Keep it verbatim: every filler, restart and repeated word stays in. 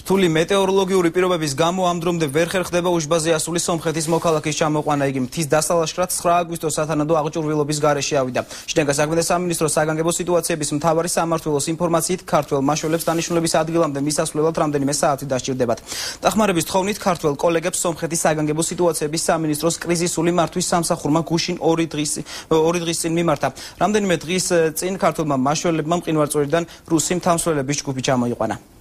რთული მეტეოროლოგიური პირობების გამო ამ დრომდე ვერ ხერხდება უშბაზე ასული სომხეთის მოქალაქის ჩამოყვანა. იგი მთის დასალაშქრად ცხრა აგვისტოს სათანადო აღჭურვილობის გარეშე ავიდა. შინაგან საქმეთა სამინისტროს საგანგებო სიტუაციების მთავარი სამმართველოს ინფორმაციით ქართველ მაშველებს დანიშნულების ადგილამდე მისასვლელად რამდენიმე საათი დასჭირდებათ. დახმარების თხოვნით ქართველ კოლეგებს სომხეთის საგანგებო სიტუაციების სამინისტროს კრიზისული მართვის სამსახურმა გუშინ ორი დღის ორი დღის წინ მიმართა. რამდენიმე დღის წინ ქართველმა მაშველებმა მყინვარწვერიდან რუსი მთამსვლელების ჯგუფი ჩამოიყვანა.